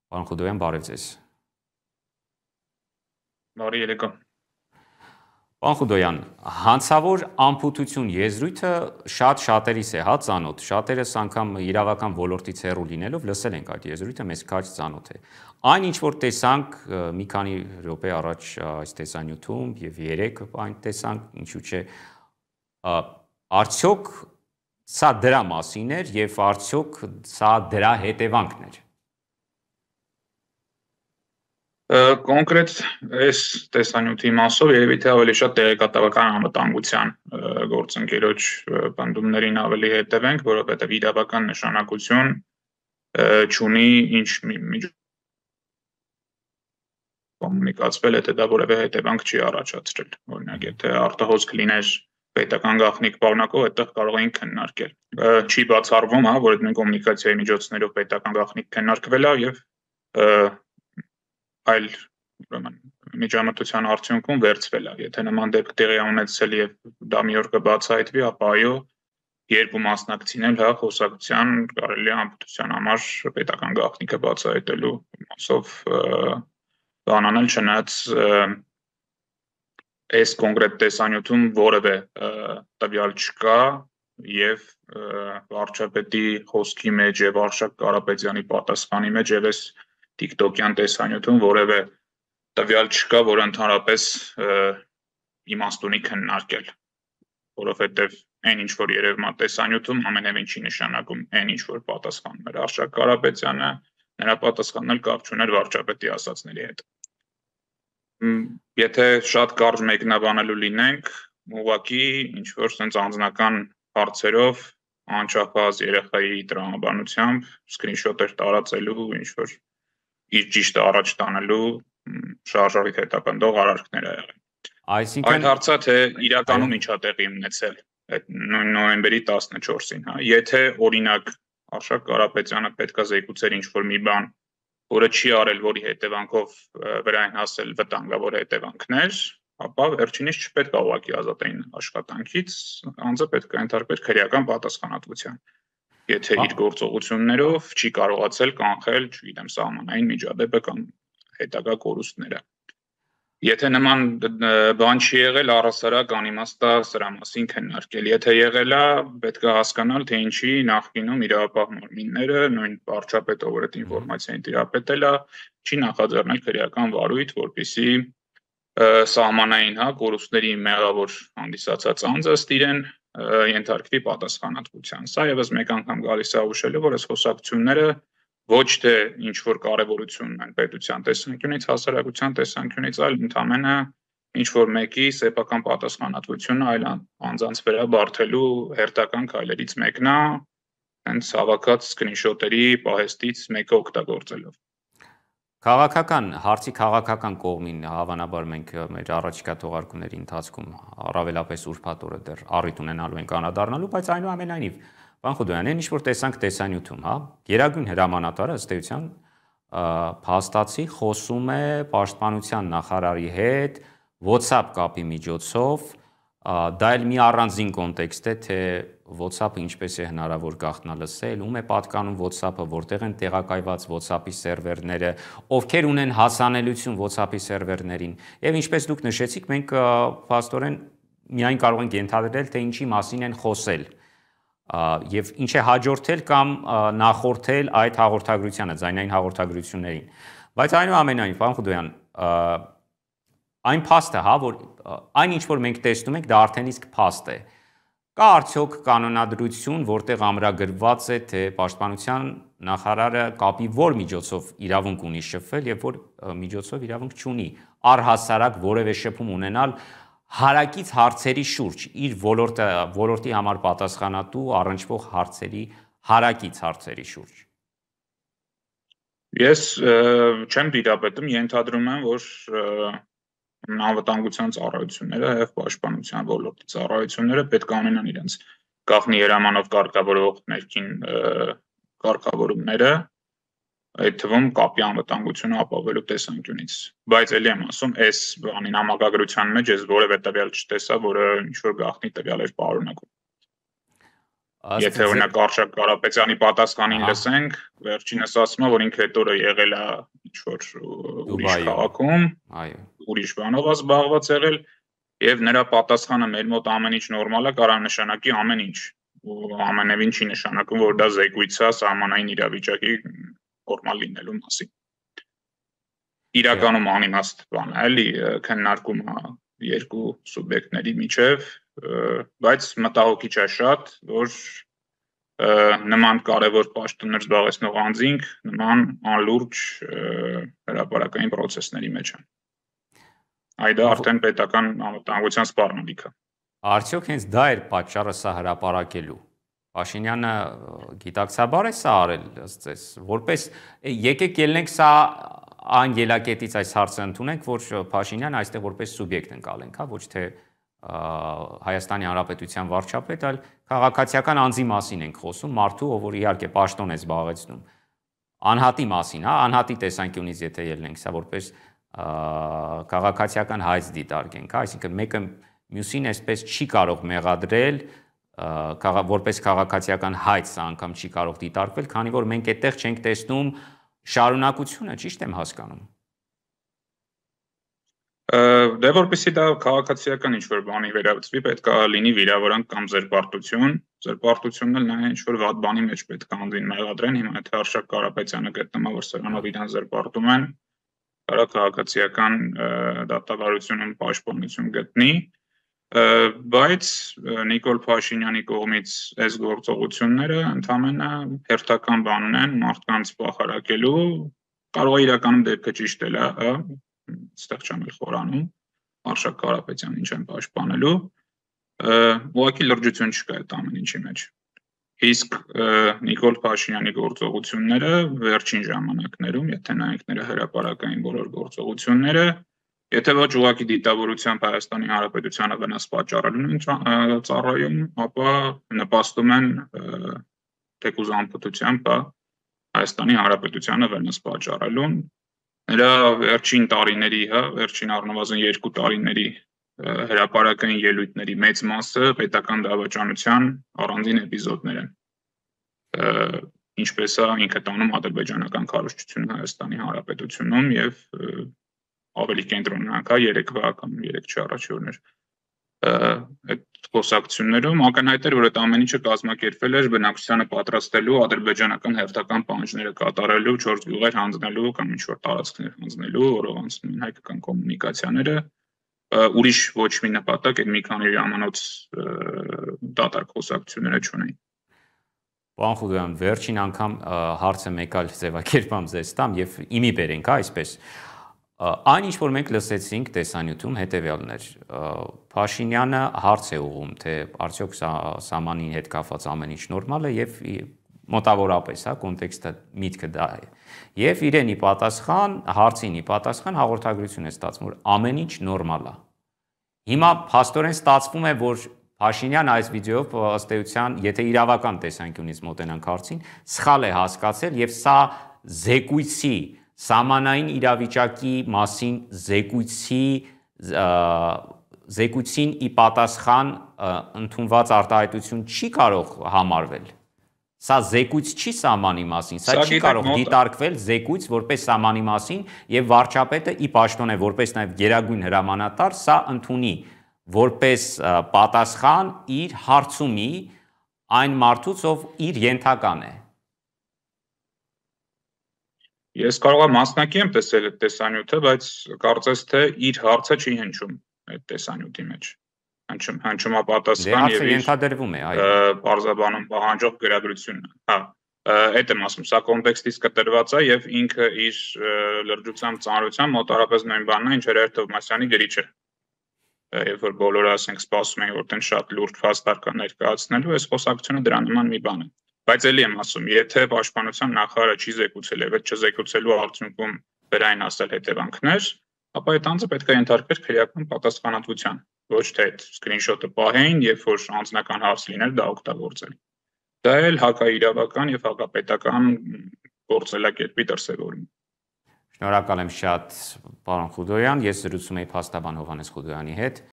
Պարոն Խուդոյան, բարև ձեզ։ Բարի երեկո։ Պարոն Խուդոյան, հանցավոր անփութություն եզրույթը շատերիս է ծանոթ, շատերս անգամ իրավական ոլորտից հեռու լինելով լսել ենք այդ եզրույթը, մեզ քաջ ծանոթ է։ Այն ինչ որ տեսանք մի քանի րոպե առաջ այս տեսանյութում եւ երեք այն տեսանք, ինչու՞ չէ, արդյոք սա դրա մասին էր եւ արդյոք սա դրա հետևանքն էր։ Կոնկրետ այս տեսանյութի մասով երևի թե ավելի շատ տեղեկատվական անվտանգության գործընկերոջ պնդումներին ավելի հետևենք, որովհետև իրավական նշանակություն չունի ինչ կոմունիկացվել, եթե դա որևէ հետևանք չի առաջացրել։ Օրինակ, եթե արտահոսք լիներ պետական գաղտնիք պարունակող, այդտեղ կարող էին քննարկել։ Չի բացառվում, որ այդ նույն կոմունիկացիայի միջոցներով պետական գաղտնիք քննարկվել է եւ այլ միջամտության արդյունքում վերցվել է։ Եթե նման դեպք տեղի ունեցել եւ դա մի օր կբացահայտվի, ապա այո, երբ ու մասնակցին էլ խոսակցության կարելի է անփութության համար պետական գաղտնիքը բացահայտելու մասով բան անել, չնայած այս կոնկրետ տեսանյութում որևէ տվյալ չկա եւ վարչապետի խոսքի մեջ եւ Արշակ Կարապետյանի պատասխանի մեջ եւ այս TikTok-յան տեսանյութում որևէ տվյալ չկա, որ ընդհանրապես իմաստ ունի քննարկել, որովհետև այն ինչ որ երևում է տեսանյութում ամենևին չի նշանակում այն ինչ որ պատասխանում էր Արշակ Կարապետյանը, նրա պատասխանն էլ կապ չուներ վարչապետի ասածների հետ։ Եթե շատ կարճ մեկնաբանելու լինենք, ուղղակի ինչ որ sense անձնական հարցերով անչափահաս երեխայի տրամաբանությամբ սկրինշոթեր տարածելու ինչ որ իր ճիշտը առաջ տանելու շարժարիթ հետապնդող արարքներ ա եղել։ Այսինքն այդ հարցը թե իրականում ինչ ա տեղի ունեցել այդ նոյեմբերի 14-ին, եթե օրինակ Արշակ Կարապետյանը պետքա զեկուցեր ինչ որ մի բան, որը չի արել, որի հետևանքով վրային հասել վտանգավոր հետևանքներ, ապա վերջինիս չպետք է ուղղակի ազատային աշխատանքից, անձը պետք է ենթարկվեր քրեական պատասխանատվության։ Եթե իր գործողություններով չի կարողացել կանխել, չգիտեմ, սահմանային միջադեպը կամ հետագա կորուստները։ Եթե նման բան չի եղել, առհասարակ անիմաստ է սրա մասին քննարկել։ Եթե եղել է, պետք է հասկանալ, թե ինչի նախկինում իրավապահ մարմինները, նույն վարչապետը, որ այդ ինֆորմացիային տիրապետել է, չի նախաձեռնել քրեական վարույթ, որպեսզի սահմանային կորուստների մեղավոր հանդիսացած անձը ըստ իրեն ենթարկվի պատասխանատվության։ Սա եւս մեկ անգամ գալիս է հուշելու, որ այս խոսակցությունները ոչ թե ինչ որ կարևորություն ունեն պետության տեսանկյունից, հասարակության տեսանկյունից, այլ ընդամենը ինչ որ մեկի սեփական պատասխանատվությունը այլ անձանց վրա բարթելու հերթական քայլերից մեկն է, հենց հավաքած սկրինշոթերի պահեստից մեկը օգտագործելով։ Հարցի քաղաքական կողմին հավանաբար մենք մեր առաջիկա թողարկումների ընթացքում առավելապես ուրբաթ օրը դեռ առիթ ունենալու ենք անդրադառնալու, բայց այնուամենայնիվ, պարոն Խուդոյան, ինչ որ տեսանք տեսանյութում, Գերագույն հրամանատարը ըստ էության փաստացի խոսում է պաշտպանության նախարարի հետ WhatsApp կապի միջոցով, դա էլ մի առանձին կոնտեքստ է, թե WhatsApp-ը ինչպես է հնարավոր գաղտնալսել, ում է պատկանում WhatsApp-ը, որտեղ են տեղակայված WhatsApp-ի սերվերները, ովքեր ունեն հասանելիություն WhatsApp-ի սերվերներին, եւ ինչպես դուք նշեցիք, մենք փաստորեն միայն կարող ենք ենթադրել, թե ինչի մասին են խոսել, եւ ինչ է հաջորդել կամ նախորդել այդ հաղորդագրությանը, ձայնային հաղորդագրություններին։ Բայց այնուամենայնիվ, պարոն Խուդոյան, այն փաստը, որ այն ինչ որ մենք տեսնում ենք, դա արդեն իսկ փաստ է։ Կա արդյոք կանոնադրություն, որտեղ ամրագրված է, թե պաշտպանության նախարարը կապի որ միջոցով իրավունք ունի շփվել եւ որ միջոցով իրավունք չունի առհասարակ որևէ շփում ունենալ հարակից հարցերի շուրջ, իր ոլորտի համար պատասխանատու առնչվող հարցերի հարակից հարցերի շուրջ։ Ես չեմ դիտապետում, ենթադրում եմ, որ անվտանգության ծառայությունները եւ պաշտպանության ոլորտի ծառայությունները պետք է ունենան իրենց գաղտնի հրամանով կարգավորող ներքին կարգավորումները, այդ թվում կապի անվտանգությունը ապահովելու տեսանկյունից, բայց ելի եմ ասում, այս բանի համագագրության մեջ ես որևէ տվյալ չտեսա, որը ինչ որ գաղտնի տվյալ էր պարունակում։ Եթե օրինակ Արշակ Կարապետյանի պատասխանին լսենք, վերջինս ասում է, որ ինքը այդ օրը եղել է ինչ-որ ուրիշ քաղաքում, ուրիշ բանով զբաղված եղել, եւ նրա պատասխանը մեր մոտ ամեն ինչ նորմալ է, կարող նշանակի ամեն ինչ, ու ամենևին չի նշանակում, որ դա զեկույց է սահմանային իրավիճակի նորմալ լինելու մասին։ Իրականում անիմաստ բան է, էլի քննարկում է երկու սուբյեկտների միջև, բայց մտահոգիչ է շատ, որ նման կարևոր պաշտոններ զբաղեցնող անձինք նման անլուրջ հրապարակային պրոցեսների մեջ են։ Այդ արդեն պետական անվտանգության սպառնալիք է։ Արդյոք հենց դա էր պատճառը սա հրապարակելու։ Փաշինյանը գիտակցաբար է սա արել, ըստ ձեզ, որպես եկեք ելնենք սա այն ելակետից այս հարցը ընդունենք, որ Փաշինյանը այստեղ որպես սուբյեկտ ընկալենք, հա, ոչ թե Հայաստանի Հանրապետության վարչապետ, այլ քաղաքացիական անձի մասին ենք խոսում, մարդու, ով որ իհարկե պաշտոն է զբաղեցնում։ Անհատի մասին, հա, անհատի տեսանկյունից եթե ելնենք սա որպես քաղաքացիական հայց դիտարկենք, հա, այսինքն մեկը մյուսին այսպես չի կարող մեղադրել որպես քաղաքացիական հայց սա անգամ չի կարող դիտարկվել, քանի որ մենք այդտեղ չենք տեսնում շարունակությունը, ճիշտ եմ հասկանում։ Դե որպեսզի դա քաղաքացիական ինչ-որ բանի վերաբերվի, պետք է լինի վիրավորանք կամ զերպարտություն։ Զերպարտությունն էլ նա ինչ-որ վատ բանի մեջ պետք է անձին մեղադրեն, հիմա եթե Արշակ Կարապետյանը գտնվում է, որ սրանով իրան զերպարտում են, կարա քաղաքացիական դատավարությունում պաշտպանություն գտնի, բայց Նիկոլ Փաշինյանի կողմից այս գործողությունները ընդհանրապես հերթական բան են մարդկանց պահարակելու, կարող է իրականում դեպքը ճիշտ էլ է, այստեղ չեմ էլ խորանում, Արշակ Կարապետյանին չեմ պաշտպանելու, ուղղակի լրջություն չկա այդ ամեն ինչի մեջ։ Իսկ Նիկոլ Փաշինյանի գործողությունները վերջին ժամանակներում, եթե նայենք նրա հրապարակային բոլոր գործողությունները, եթե ոչ ուղղակի դիտավորությամբ Հայաստանի Հանրապետությանը վնաս պատճառելուն են ծառայում, ապա նպաստում են թեկուզ անպտությամբ Հայաստանի Հանրապետությանը վնաս պատճառելուն։ Նրա վերջին տարիների, վերջին առնվազն 2 տարիների հրապարակային ելույթների մեծ մասը պետական դավաճանության առանձին էպիզոդներ են։ Ինչպես է ինքը տանում ադրբեջանական քարոզչությունը Հայաստանի Հանրապետությունում եւ ավելի կենտրոնանք 3-վա կամ 3 առաջի օրներ այդ խոսակցություններում ակնհայտ էր, որ այդ ամեն ինչը կազմակերպվել էր բնակչությանը պատրաստելու ադրբեջանական հերթական պահանջները կատարելու 4 գյուղեր հանձնելու կամ ինչ-որ տարածքներ հանձնելու, որով անցնում են հայկական կոմունիկացիաները, ուրիշ ոչ մի նպատակ այդ մի քանի ժամանոց դատարկ խոսակցությունները չունեին։ Պարոն Խուդոյան, վերջին անգամ հարցը մեկ այլ ձևակերպամ ձեզ տամ եւ իմի բերենք, այսպես այն ինչ որ մենք լսեցինք տեսանյութում հետեւյալն էր Փաշինյանը հարց է ուղղում թե արդյոք սահմանի հետ կապված ամեն ինչ նորմալ է եւ մոտավորապես կոնտեքստը միտքը դա է եւ իրենի պատասխան հարցինի պատասխան հաղորդագրություն է ստացվում որ ամեն ինչ նորմալ է հիմա փաստորեն ստացվում է որ Փաշինյանը այս վիդեոյով ըստ էության եթե իրավական տեսանկյունից մոտենանք հարցին սխալ է հասկացել եւ սա զեկույցի սահմանային իրավիճակի մասին զեկույցին ի պատասխան ընդունված արտահայտություն չի կարող համարվել։ Սա զեկույց չի սահմանի մասին, սա չի կարող դիտարկվել զեկույց որպես սահմանի մասին եւ վարչապետը ի պաշտոն է որպես նաեւ գերագույն հրամանատար սա ընդունի որպես պատասխան իր հարցումի այն մարդուց ով իր ենթական է։ Ես կարող եմ մասնակի եմ տեսել այդ տեսանյութը, բայց կարծես թե իր հարցը չի հնչում այդ տեսանյութի մեջ։ Հնչում է պատասխան եւ ենթադրվում է, այո, բարձաբանում պահանջող գրագրությունն է։ Հա, այդ եմ ասում, սա կոնտեքստից կտրված է եւ ինքը իր լրջությամբ ծանրությամբ մոտարապես նույն բանն է, ինչ Հերեր Թովմասյանի գրիչը։ Երբ որ բոլորը ասենք սպասում են, որ տեն շատ լուրջ փաստարկներ կա ներկայացնելու, այս խոսակցությունը դրա նման մի բան է։ Բայց էլի եմ ասում, եթե պաշտպանության նախարարը չի զեկուցել եւ այդ չզեկուցելու արդյունքում վերային ասել հետևանքներ, ապա այդ անձը պետք է ենթարկվեր քրեական պատասխանատվության, ոչ թե այդ սկրինշոթը պահեին, երբ որ անձնական հարց լիներ դա օգտագործել։ Դա էլ հակաիրավական եւ հակապետական գործելակերպի դրսեւորում։ Շնորհակալ եմ շատ, պարոն Խուդոյան, ես զրուցում էի փաստաբան Հովհաննես Խուդոյանի հետ։